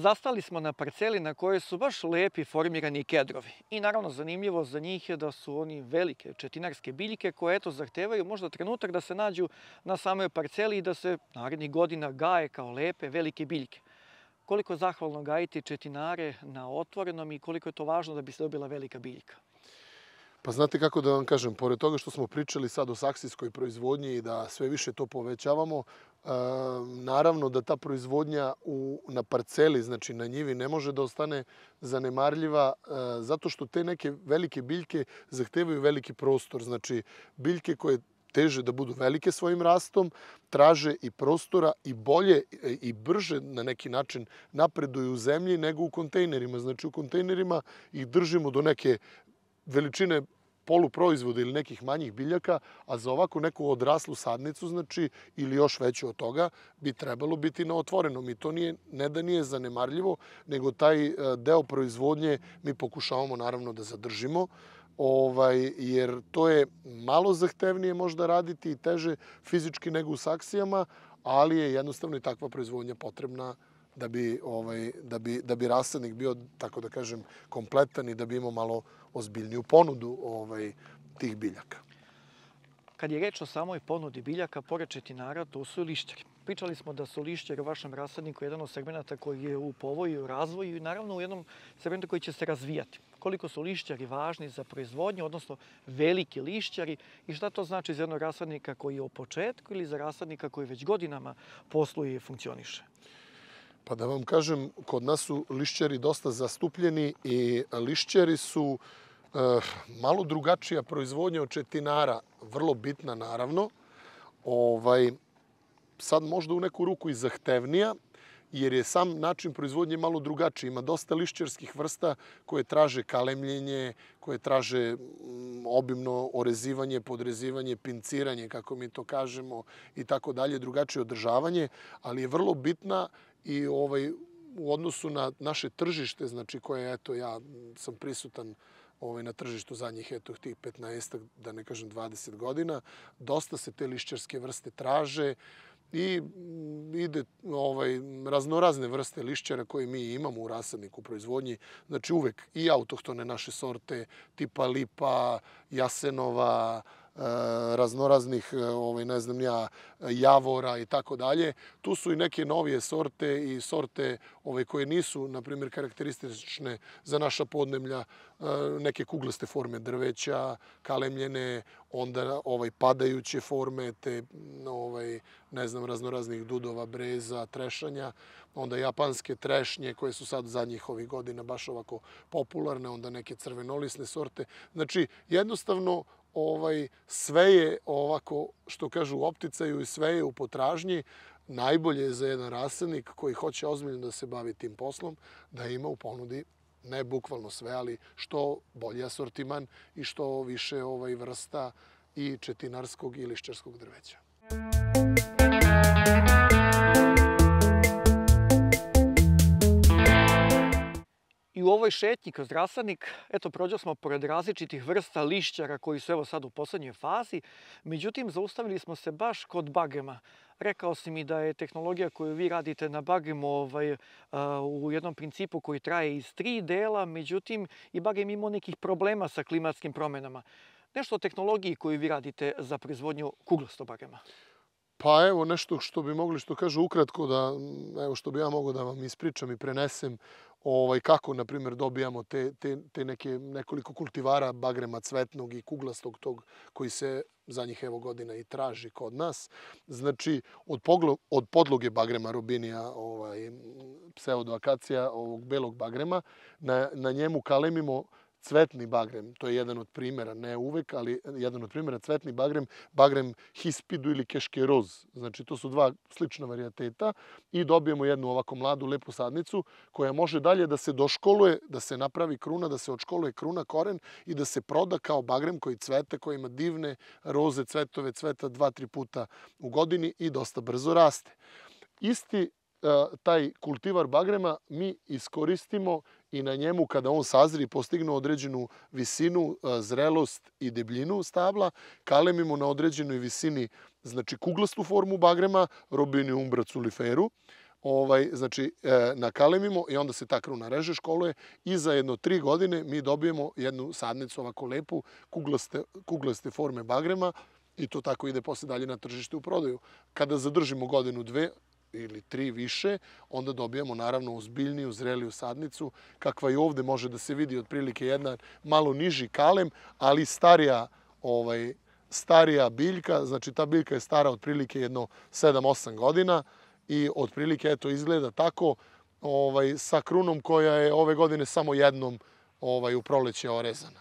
Zastali smo na parceli na kojoj su baš lepi formirani kedrovi. I naravno zanimljivo za njih je da su oni velike četinarske biljke koje zahtevaju možda trenutak da se nađu na samoj parceli i da se narednih godina gaje kao lepe velike biljke. Koliko je zahvalno gajiti četinare na otvorenom i koliko je to važno da bi se dobila velika biljka? Pa znate kako da vam kažem, pored toga što smo pričali sad o saksijskoj proizvodnji i da sve više to povećavamo, naravno da ta proizvodnja na parceli, znači na njivi, ne može da ostane zanemarljiva zato što te neke velike biljke zahtevaju veliki prostor. Znači biljke koje teže da budu velike svojim rastom, traže i prostora i bolje i brže na neki način napreduju u zemlji nego u kontejnerima. Znači u kontejnerima ih držimo do neke veličine poluproizvoda ili nekih manjih biljaka, a za ovako neku odraslu sadnicu, znači, ili još veću od toga, bi trebalo biti na otvorenom. I to ne da nije zanemarljivo, nego taj deo proizvodnje mi pokušavamo naravno da zadržimo, jer to je malo zahtevnije možda raditi i teže fizički nego u saksijama, ali je jednostavno i takva proizvodnja potrebna da bi rasadnik bio, tako da kažem, kompletan i da bi imao malo ozbiljniju ponudu tih biljaka. Kad je reč o samoj ponudi biljaka, pored četinara, to su lišćari. Pričali smo da su lišćari u vašem rasadniku jedan od segmenta koji je u povoju i razvoju i naravno u jednom segmentu koji će se razvijati. Koliko su lišćari važni za proizvodnju, odnosno veliki lišćari i šta to znači za jednog rasadnika koji je u početku ili za rasadnika koji već godinama posluje i funkcioniše? Pa da vam kažem, kod nas su lišćari dosta zastupljeni i lišćari su malo drugačija proizvodnja od četinara, vrlo bitna naravno. Sad možda u neku ruku i zahtevnija, jer je sam način proizvodnje malo drugačiji. Ima dosta lišćarskih vrsta koje traže kalemljenje, koje traže obimno orezivanje, podrezivanje, pinciranje, kako mi to kažemo, i tako dalje, drugačije održavanje, ali je vrlo bitna i u odnosu na naše tržište, znači koje, ja sam prisutan na tržištu zadnjih tih 15, da ne kažem 20 godina, dosta se te lišćarske vrste traže i ide raznorazne vrste lišćara koje mi imamo u rasadniku u proizvodnji. Znači uvek i autohtone naše sorte, tipa lipa, jasenova, raznoraznih, ne znam ja, javora i tako dalje. Tu su i neke novije sorte i sorte koje nisu, na primjer, karakteristične za naša podneblja, neke kuglaste forme drveća, kalemljene, onda padajuće forme, te, ne znam, raznoraznih dudova, breza, trešanja, onda japanske trešnje koje su sad zadnjih ovih godina baš ovako popularne, onda neke crvenolisne sorte. Znači, jednostavno, sve je ovako, što kažu, u opticaju i sve je u potražnji. Najbolje je za jedan rasadnik koji hoće ozbiljno da se bavi tim poslom, da ima u ponudi, ne bukvalno sve, ali što bolji asortiman i što više vrsta i četinarskog i lišćarskog drveća. I u ovoj šetnji kroz rasadnik, prođeli smo pored različitih vrsta lišćara koji su sad u poslednjoj fazi, međutim zaustavili smo se baš kod bagrema. Rekao si mi da je tehnologija koju vi radite na bagremu u jednom principu koji traje iz 3 dela, međutim i bagrem imao nekih problema sa klimatskim promenama. Nešto o tehnologiji koju vi radite za proizvodnju kuglastog bagrema. Pa evo nešto što bi mogli, što kažu ukratko, što bi ja mogao da vam ispričam i prenesem kako, na primjer, dobijamo te nekoliko kultivara bagrema cvetnog i kuglastog tog koji se zadnjih godina i traži kod nas. Znači, od podloge bagrema robinija, pseudoakacija, ovog belog bagrema, na njemu kalemimo cvetni bagrem, to je jedan od primjera, ne uvek, ali jedan od primjera, cvetni bagrem, bagrem hispidu ili keškeroz. Znači, to su dva slična varijateta i dobijemo jednu ovako mladu, lepu sadnicu koja može dalje da se doškoluje, da se napravi kruna, da se odškoluje kruna, koren i da se proda kao bagrem koji cvete, koji ima divne roze, cvetove, cveta 2-3 puta u godini i dosta brzo raste. Isti taj kultivar bagrema mi iskoristimo i na njemu kada on sazri i postigne određenu visinu, zrelost i debljinu stabla, kalemimo na određenoj visini, znači kuglastu formu bagrema, Robinia umbra culiferu, znači nakalemimo i onda se ta kruna reže, školuje i za jedno 3 godine mi dobijemo jednu sadnicu ovako lepu, kuglaste forme bagrema i to tako ide posle dalje na tržište u prodaju. Kada zadržimo godinu, 2 ili 3 više, onda dobijamo naravno ozbiljniju, zreliju sadnicu, kakva i ovde može da se vidi otprilike jedna malo niži kalem, ali starija biljka, znači ta biljka je stara otprilike jedno 7-8 godina i otprilike eto izgleda tako sa krunom koja je ove godine samo jednom u proleće orezana.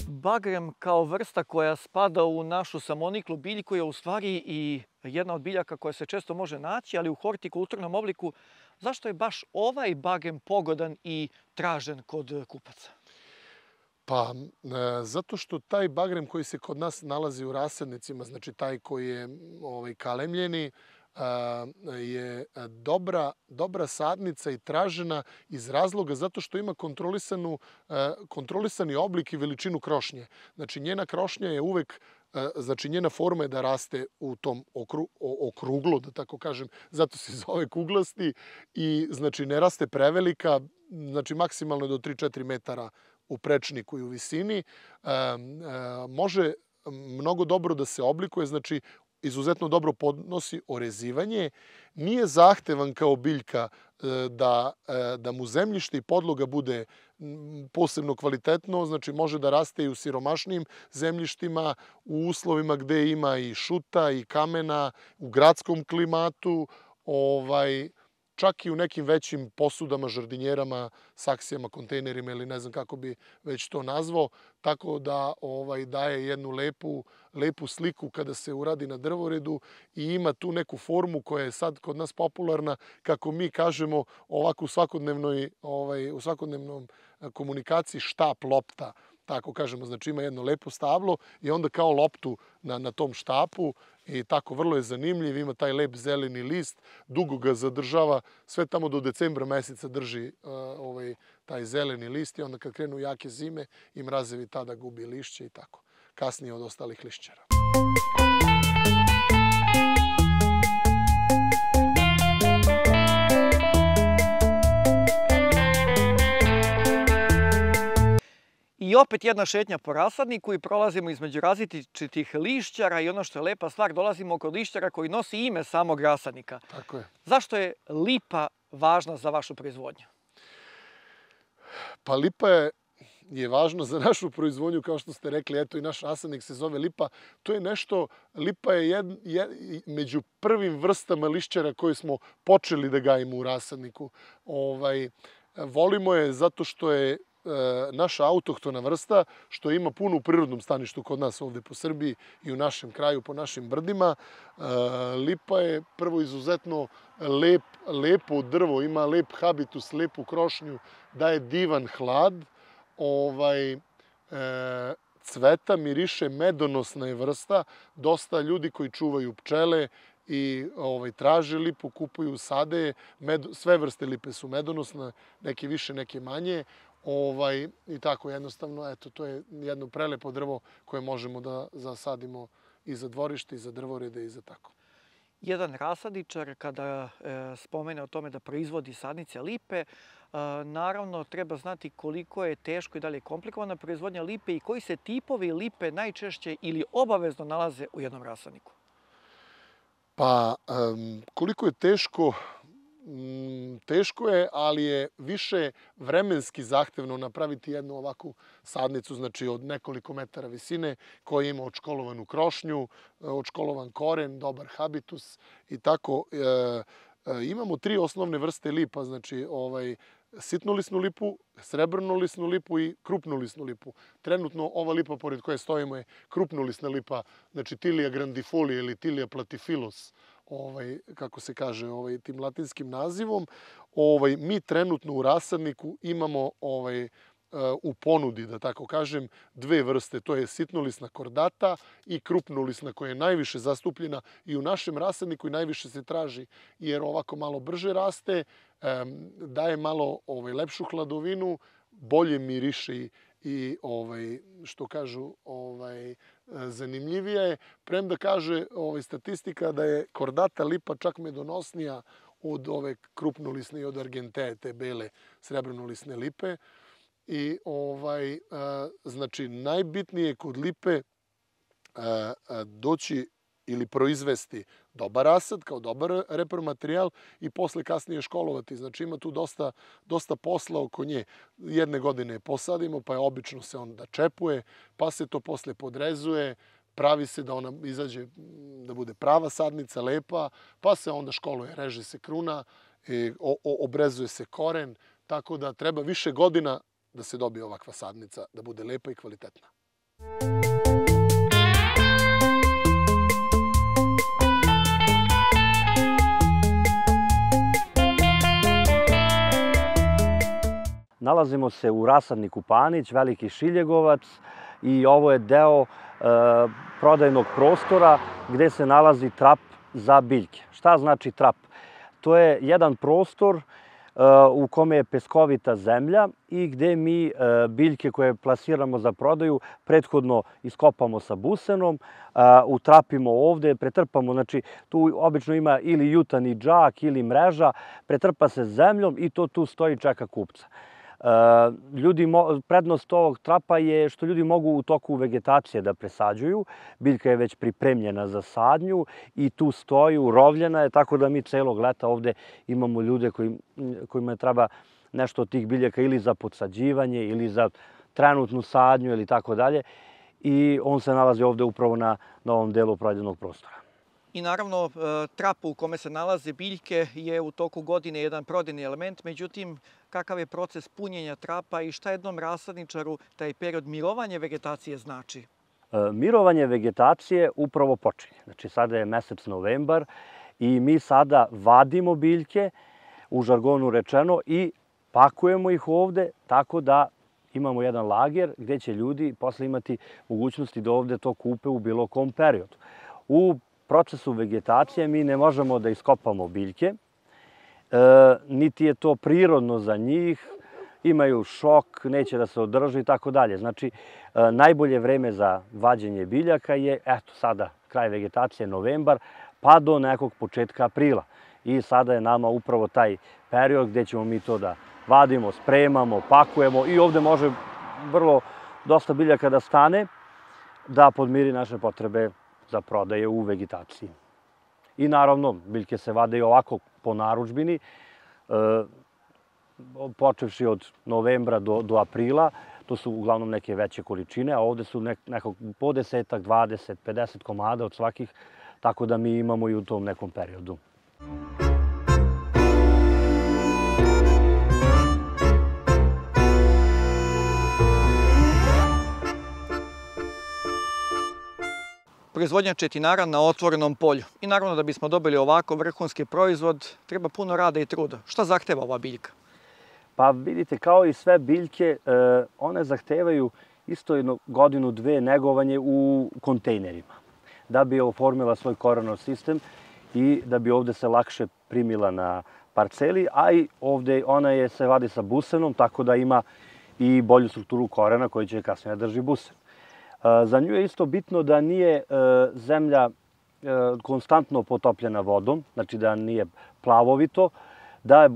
Bagrem kao vrsta koja spada u našu samoniklu biljku je u stvari i jedna od biljaka koja se često može naći, ali u hortikulturnom obliku. Zašto je baš ovaj bagrem pogodan i tražen kod kupaca? Pa, zato što taj bagrem koji se kod nas nalazi u rasadnicima, znači taj koji je kalemljeni, je dobra sadnica i tražena iz razloga zato što ima kontrolisani oblik i veličinu krošnje. Znači njena krošnja je uvek, znači njena forma je da raste u tom okruglu, da tako kažem, zato se zove kuglasti i znači ne raste prevelika, znači maksimalno do 3-4 metara u prečniku i u visini. Može mnogo dobro da se oblikuje, znači izuzetno dobro podnosi orezivanje, nije zahtevan kao biljka da mu zemljište i podloga bude posebno kvalitetno, znači može da raste i u siromašnijim zemljištima, u uslovima gde ima i šuta i kamena, u gradskom klimatu, čak i u nekim većim posudama, žardinjerama, saksijama, kontejnerima ili ne znam kako bi već to nazvao, tako da daje jednu lepu sliku kada se uradi na drvoredu i ima tu neku formu koja je sad kod nas popularna, kako mi kažemo ovako u svakodnevnom komunikaciji štap lopta. Tako kažemo, znači ima jedno lepo stablo i onda kao loptu na tom štapu i tako vrlo je zanimljiv, ima taj lep zeleni list, dugo ga zadržava, sve tamo do decembra meseca drži taj zeleni list i onda kad krenu jake zime i mrazevi tada gubi lišće i tako, kasnije od ostalih lišćara. I opet jedna šetnja po rasadniku i prolazimo između različitih lišćara i ono što je lepa stvar, dolazimo kod lišćara koji nosi ime samog rasadnika. Tako je. Zašto je lipa važna za vašu proizvodnju? Pa lipa je važna za našu proizvodnju, kao što ste rekli, eto i naš rasadnik se zove lipa. To je nešto, lipa je među prvim vrstama lišćara koje smo počeli da gajimo u rasadniku. Volimo je zato što je naša autohtona vrsta, što ima puno u prirodnom staništu kod nas ovde po Srbiji i u našem kraju, po našim brdima. Lipa je prvo izuzetno lepo drvo, ima lep habitus, lepu krošnju, daje divan hlad, cveta, miriše, medonosna je vrsta. Dosta ljudi koji čuvaju pčele i traže lipu, kupuju, sade. Sve vrste lipe su medonosne, neke više, neke manje. I tako jednostavno, eto, to je jedno prelepo drvo koje možemo da zasadimo i za dvorište, i za drvorede, i za tako. Jedan rasadničar kada spomene o tome da proizvodi sadnice lipe, naravno treba znati koliko je teško i da li je komplikovana proizvodnja lipe i koji se tipovi lipe najčešće ili obavezno nalaze u jednom rasadniku. Pa, koliko je teško? Teško je, ali je više vremenski zahtevno napraviti jednu ovakvu sadnicu, znači od nekoliko metara visine, koja ima odškolovanu krošnju, odškolovan koren, dobar habitus i tako. Imamo 3 osnovne vrste lipa, znači sitnolisnu lipu, srebrnolisnu lipu i krupnolisnu lipu. Trenutno ova lipa pored koje stojimo je krupnolisna lipa, znači Tilia grandifolia ili Tilia platyphilus, kako se kaže tim latinskim nazivom. Mi trenutno u rasadniku imamo u ponudi, da tako kažem, dve vrste. To je sitnolisna kordata i krupnolisna koja je najviše zastupljena i u našem rasadniku i najviše se traži jer ovako malo brže raste, daje malo lepšu hladovinu, bolje miriše i što kažu zanimljivija je. Premda kaže statistika da je kordata lipa čak medonosnija od ove krupnolisne i od argenteje, te bele srebrnolisne lipe. I znači najbitnije je kod lipe doći ili proizvesti dobar rasad kao dobar repromaterijal i posle kasnije školovati. Znači ima tu dosta posla oko nje. Jedne godine je posadimo, pa je obično se onda čepuje, pa se to posle podrezuje, pravi se da ona izađe, da bude prava sadnica, lepa, pa se onda školuje, reže se kruna, obrezuje se koren, tako da treba više godina da se dobije ovakva sadnica, da bude lepa i kvalitetna. Nalazimo se u rasadniku Panić, Veliki Šiljegovac i ovo je deo prodajnog prostora gde se nalazi trap za biljke. Šta znači trap? To je jedan prostor u kome je peskovita zemlja i gde mi biljke koje plasiramo za prodaju prethodno iskopamo sa busenom, utrapimo ovde, pretrpamo, znači tu obično ima ili jutani džak ili mreža, pretrpa se zemljom i to tu stoji, čeka kupca. Prednost ovog trapa je što ljudi mogu u toku vegetacije da presađuju. Biljka je već pripremljena za sadnju i tu stoji, urovljena je, tako da mi celog leta ovde imamo ljude kojima treba nešto od tih biljaka ili za podsađivanje ili za trenutnu sadnju ili tako dalje. I on se nalazi ovde upravo na ovom delu prodajnog prostora. I naravno, trap u kome se nalaze biljke je u toku godine jedan prodajni element, međutim, kakav je proces punjenja trapa i šta jednom rasadničaru taj period mirovanja vegetacije znači? Mirovanje vegetacije upravo počinje. Znači, sada je mesec novembar i mi sada vadimo biljke, u žargonu rečeno, i pakujemo ih ovde, tako da imamo jedan lager gde će ljudi posle imati mogućnosti da ovde to kupe u bilo kom periodu. U procesu vegetacije mi ne možemo da iskopamo biljke, niti je to prirodno za njih, imaju šok, neće da se održe i tako dalje. Znači, najbolje vreme za vađenje biljaka je, eto sada, kraj vegetacije, novembar, pa do nekog početka aprila. I sada je nama upravo taj period gde ćemo mi to da vadimo, spremamo, pakujemo i ovde može dosta biljaka da stane, da podmiri naše potrebe za prodaje u vegetaciji. I naravno, biljke se vade i ovako po narudžbini, počevši od novembra do aprila, to su uglavnom neke veće količine, a ovde su nekog po 10, 20, 50 komada od svakih, tako da mi imamo i u tom nekom periodu. Proizvodnja četinara na otvorenom polju. I naravno da bismo dobili ovako vrhunski proizvod, treba puno rada i truda. Šta zahteva ova biljka? Pa vidite, kao i sve biljke, one zahtevaju isto jednu godinu, dve negovanje u kontejnerima, da bi oformila svoj korenov sistem i da bi ovde se lakše primila na parceli, a i ovde ona se vadi sa busenom, tako da ima i bolju strukturu korena koji će kasnije drži busen. Za nju je isto bitno da nije zemlja konstantno potopljena vodom, znači da nije plavovito,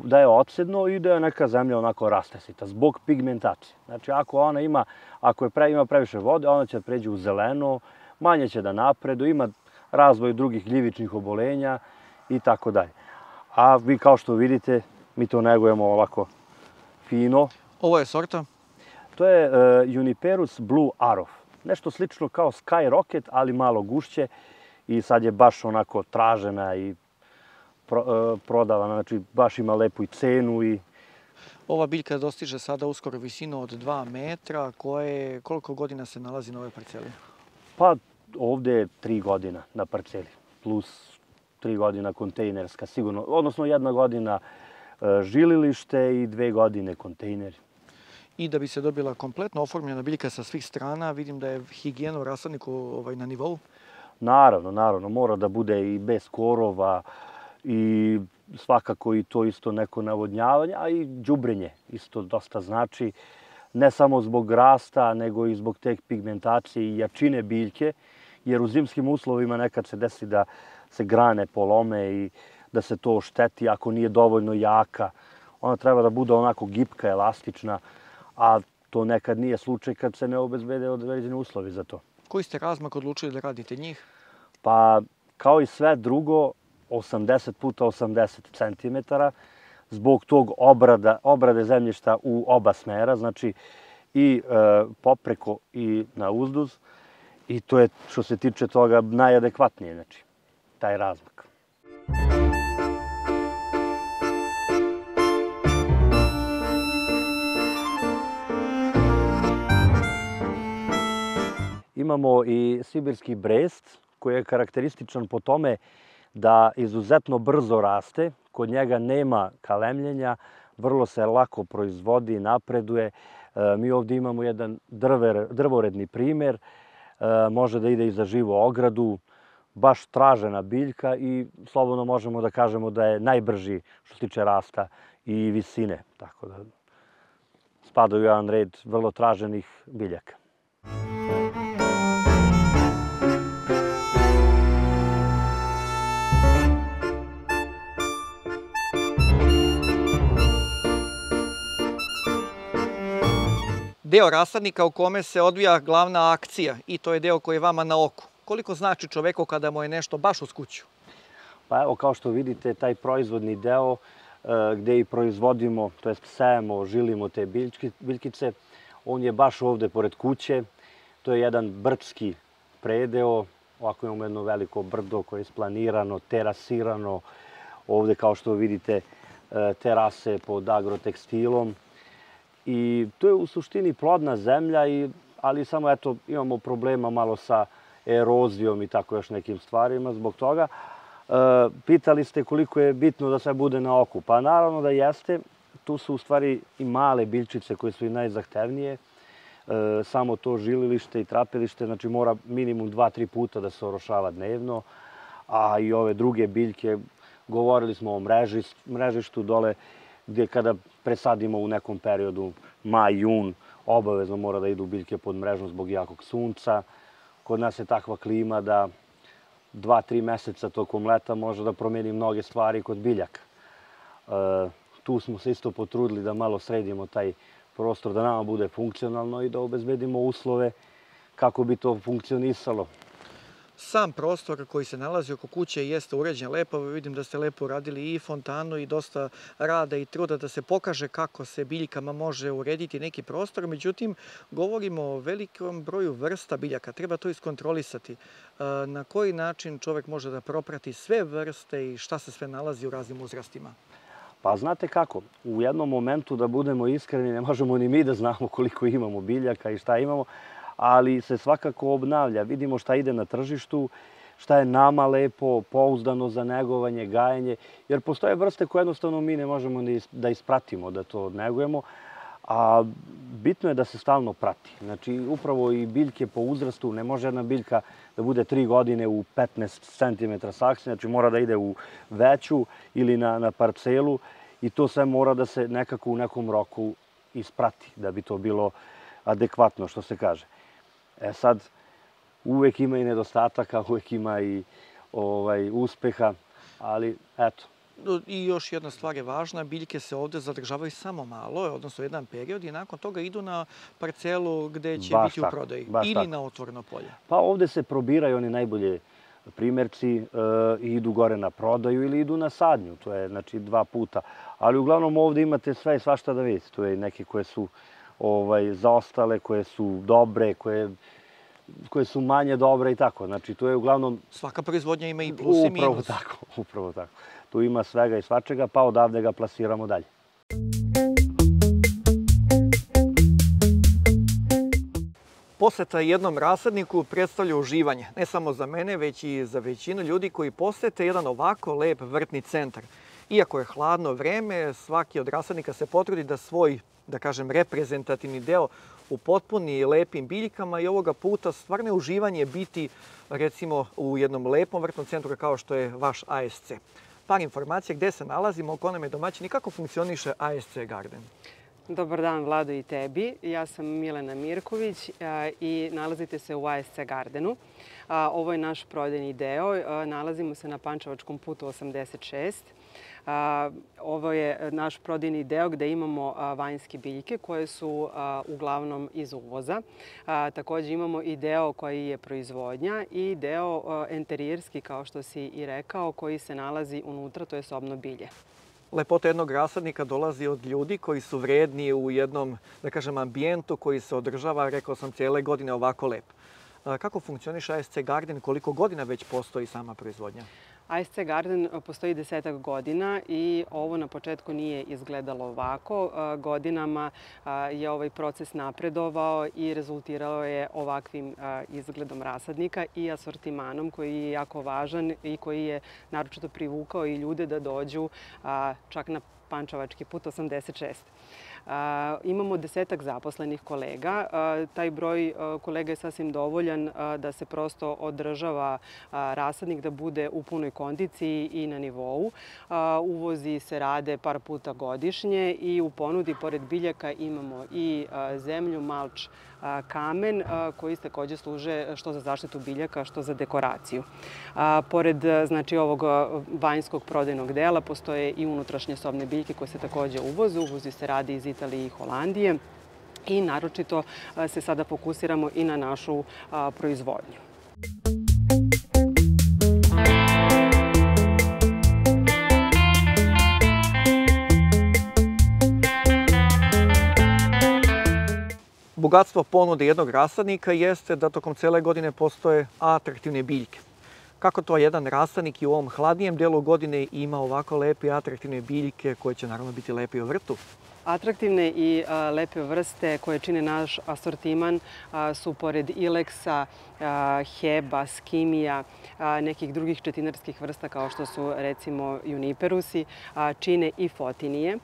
da je odsedno i da je neka zemlja onako rastesita zbog pigmentacije. Znači ako ima previše vode, ona će pređi u zeleno, manje će da napredu, ima razvoj drugih gljivičnih obolenja i tako dalje. A vi kao što vidite, mi to negujemo ovako fino. Ovo je sorta? To je Juniperus Blue Arrow. Nešto slično kao Sky Rocket, ali malo gušće i sad je baš onako tražena i prodavana, znači baš ima lepu i cenu. Ova biljka dostiže sada uskoro visinu od 2 metra, koliko godina se nalazi na ovoj parceli? Pa ovde je 3 godina na parceli, plus 3 godina kontejnerska sigurno, odnosno 1 godina žililište i 2 godine kontejneri. I da bi se dobila kompletno oformljena biljka sa svih strana, vidim da je higijena u rasadniku na nivou. Naravno, mora da bude i bez korova i svakako i to isto neko navodnjavanje, a i đubrenje isto dosta znači, ne samo zbog rasta, nego i zbog te pigmentacije i jačine biljke, jer u zimskim uslovima nekad se desi da se grane polome i da se to ošteti ako nije dovoljno jaka. Ona treba da bude onako gipka, elastična, a to nekad nije slučaj kad se ne obezbede određeni uslovi za to. Koji ste razmak odlučili da radite njih? Pa, kao i sve drugo, 80 puta 80 cm, zbog tog obrade zemljišta u oba smera, znači i popreko i na uzduz. I to je, što se tiče toga, najadekvatnije, znači, taj razmak. Imamo i sibirski brest, koji je karakterističan po tome da izuzetno brzo raste, kod njega nema kalemljenja, vrlo se lako proizvodi, napreduje. Mi ovdje imamo jedan drvoredni primjer, može da ide i za živu ogradu, baš tražena biljka i slobodno možemo da kažemo da je najbrži što se tiče rasta i visine, tako da spada u jedan red vrlo traženih biljaka. Deo rasadnika u kome se odvija glavna akcija i to je deo koji je vama na oku. Koliko znači čoveku kada mu je nešto baš uz kuću? Pa evo, kao što vidite, taj proizvodni deo gde i proizvodimo, to jest sejemo, žilimo te biljkice, on je baš ovde pored kuće. To je jedan brdski predeo, ovako imamo jedno veliko brdo koje je isplanirano, terasirano. Ovde, kao što vidite, terase pod agrotekstilom. I to je u suštini plodna zemlja, ali samo eto imamo problema malo sa erozijom i tako još nekim stvarima zbog toga. Pitali ste koliko je bitno da sve bude na oku. Pa naravno da jeste. Tu su u stvari i male biljčice koje su i najzahtevnije. Samo to žililište i trapilište, znači mora minimum 2-3 puta da se orošava dnevno. A i ove druge biljke, govorili smo o mrežištu dole, gdje kada presadimo u nekom periodu, maj, jun, obavezno mora da idu biljke pod mrežom zbog jakog sunca. Kod nas je takva klima da 2-3 meseca tokom leta može da promijeni mnoge stvari kod biljaka. Tu smo se isto potrudili da malo sredimo taj prostor, da nama bude funkcionalno i da obezbedimo uslove kako bi to funkcionisalo. Sam prostor koji se nalazi oko kuće jeste uređen lepo. Vidim da ste lepo uradili i fontanu i dosta rada i truda da se pokaže kako se biljkama može urediti neki prostor. Međutim, govorimo o velikom broju vrsta biljaka. Treba to iskontrolisati. Na koji način čovjek može da proprati sve vrste i šta se sve nalazi u raznim uzrastima? Pa znate kako, u jednom momentu, da budemo iskreni, ne možemo ni mi da znamo koliko imamo biljaka i šta imamo, ali se svakako obnavlja. Vidimo šta ide na tržištu, šta je nama lepo, pouzdano za negovanje, gajenje, jer postoje vrste koje jednostavno mi ne možemo da ispratimo, da to negujemo, a bitno je da se stalno prati. Znači, upravo i biljke po uzrastu, ne može jedna biljka da bude 3 godine u 15 cm saksija, znači mora da ide u veću ili na parcelu i to sve mora da se nekako u nekom roku isprati, da bi to bilo adekvatno, što se kaže. Sad, uvek ima i nedostataka, uvek ima i uspeha, ali eto. I još jedna stvar je važna, biljke se ovde zadržavaju samo malo, odnosno jedan period i nakon toga idu na parcelu gde će biti u prodaji ili na otvoreno polje. Pa ovde se probiraju oni najbolje primjerci i idu gore na prodaju ili idu na sadnju, to je znači 2 puta. Ali uglavnom ovde imate sve i svašta da vidite, tu je neke koje su zaostale, koje su dobre, koje su manje dobre i tako. Znači, to je uglavnom... Svaka proizvodnja ima i plus i minus. Upravo tako. Tu ima svega i svačega, pa odavde ga plasiramo dalje. Poseta jednom rasadniku predstavlja uživanje, ne samo za mene, već i za većinu ljudi koji posete jedan ovako lep vrtni centar. Iako je hladno vreme, svaki od rasadnika se potrudi da svoj, da kažem, reprezentativni deo upotpuni lepim biljkama i ovoga puta stvarno je uživanje biti, recimo, u jednom lepom vrtnom centru kao što je vaš ASC. Par informacija gde se nalazimo, ko nam je domaćin i kako funkcioniše ASC Garden. Dobar dan, Vlado, i tebi. Ja sam Milena Mirković i nalazite se u ASC Gardenu. Ovo je naš prodajni deo. Nalazimo se na Pančevačkom putu 86. Ovo je naš prodajni deo gde imamo vanjske biljke koje su uglavnom iz uvoza. Također imamo i deo koji je proizvodnja i deo enterijerski, kao što si i rekao, koji se nalazi unutra, to je sobno bilje. Lepota jednog rasadnika dolazi od ljudi koji su vredni u jednom, da kažem, ambijentu koji se održava, rekao sam, cijele godine ovako lep. Kako funkcioniše ASC Garden, koliko godina već postoji sama proizvodnja? ASC Garden postoji 10 godina i ovo na početku nije izgledalo ovako. Godinama je ovaj proces napredovao i rezultirao je ovakvim izgledom rasadnika i asortimanom koji je jako važan i koji je naročito privukao i ljude da dođu čak na Pančevački put 86. Imamo 10 zaposlenih kolega. Taj broj kolega je sasvim dovoljan da se prosto održava rasadnik, da bude u punoj kondiciji i na nivou. Uvozi se rade par puta godišnje i u ponudi, pored biljaka, imamo i zemlju, malč, kamen koji također služe što za zaštitu biljaka, što za dekoraciju. Pored ovog vanjskog prodajnog dela postoje i unutrašnje sobne biljke koje se također uvoze. Uvozi se radi iz Italije i Holandije i naročito se sada fokusiramo i na našu proizvodnju. Bogatstvo ponude jednog rasadnika jeste da tokom cele godine postoje atraktivne biljke. Kako to jedan rasadnik i u ovom hladnijem delu godine ima ovako lepe i atraktivne biljke koje će naravno biti lepe u vrtu? Atraktivne i lepe vrste koje čine naš asortiman su pored ileksa, heba, skimija, nekih drugih četinarskih vrsta kao što su recimo juniperusi, čine i fotinije.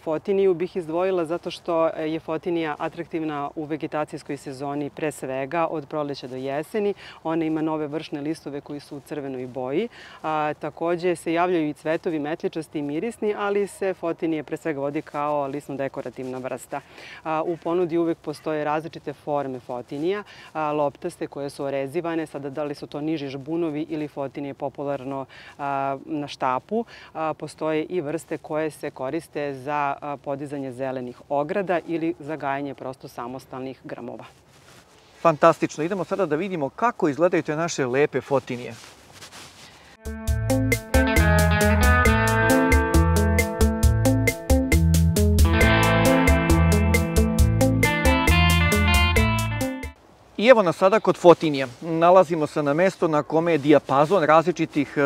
Fotiniju bih izdvojila zato što je fotinija atraktivna u vegetacijskoj sezoni pre svega od proleća do jeseni. Ona ima nove vršne listove koji su u crvenoj boji. Također se javljaju i cvetovi metličasti i mirisni, ali se fotinije pre svega vodi kao lisno-dekorativna vrsta. U ponudi uvek postoje različite forme fotinija, loptaste koje su orezivane, sada da li su to niži žbunovi ili fotinije popularno na štapu. Postoje i vrste koje se koriste za podizanje zelenih ograda ili za gajanje prosto samostalnih gramova. Fantastično. Idemo sada da vidimo kako izgledaju te naše lepe fotinije. I evo nas sada kod fotinija. Nalazimo se na mestu na kome je dijapazon različitih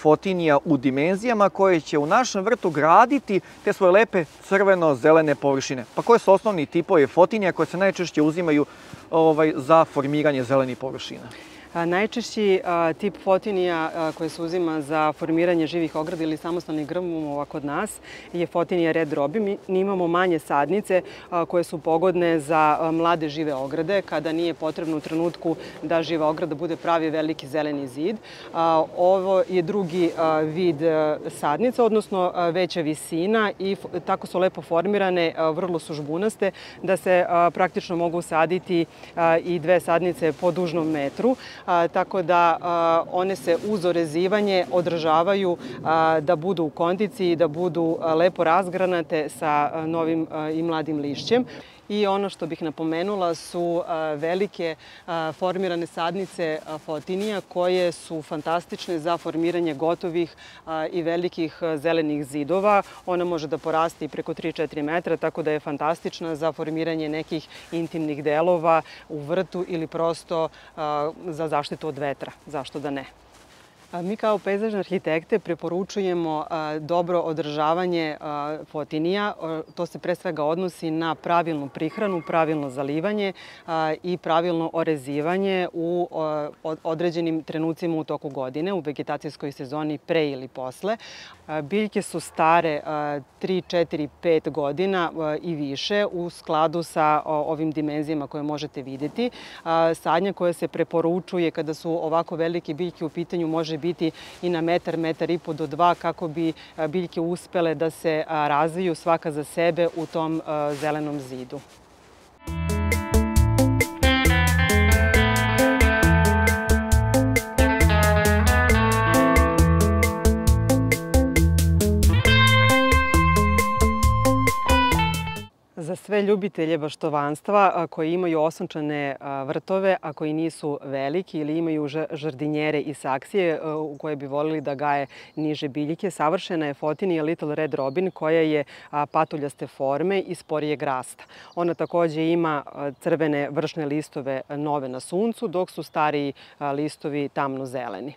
fotinija u dimenzijama koje će u našem vrtu graditi te svoje lepe crveno-zelene površine. Pa koje su osnovni tipovi fotinija koje se najčešće uzimaju za formiranje zelenih površina? Najčešći tip fotinija koje se uzima za formiranje živih ograda ili samostalnih grmova kod nas je fotinija Red Robi. Mi imamo manje sadnice koje su pogodne za mlade žive ograde kada nije potrebno u trenutku da živa ograda bude pravi veliki zeleni zid. Ovo je drugi vid sadnica, odnosno veća visina i tako su lepo formirane, vrlo su žbunaste da se praktično mogu saditi i 2 sadnice po dužnom metru. Tako da one se uz orezivanje održavaju da budu u kondiciji, da budu lepo razgranate sa novim i mladim lišćem. I ono što bih napomenula su velike formirane sadnice fotinija koje su fantastične za formiranje gotovih i velikih zelenih zidova. Ona može da poraste i preko 3-4 metra, tako da je fantastična za formiranje nekih intimnih delova u vrtu ili prosto za zaštitu od vetra. Zašto da ne? Mi kao pejzažne arhitekte preporučujemo dobro održavanje fotinija. To se pre svega odnosi na pravilnu prihranu, pravilno zalivanje i pravilno orezivanje u određenim trenucima u toku godine, u vegetacijskoj sezoni pre ili posle. Biljke su stare 3, 4, 5 godina i više u skladu sa ovim dimenzijama koje možete vidjeti. Sadnja koja se preporučuje kada su ovako velike biljke u pitanju može biti i na metar, metar i po do 2 kako bi biljke uspele da se razviju svaka za sebe u tom zelenom zidu. Za sve ljubitelje baštovanstva koji imaju osunčane vrtove, a koji nisu veliki ili imaju žardinjere i saksije u koje bi volili da gaje niže biljke, savršena je fotinija Little Red Robin koja je patuljaste forme i sporijeg rasta. Ona takođe ima crvene vršne listove nove na suncu, dok su stariji listovi tamno zeleni.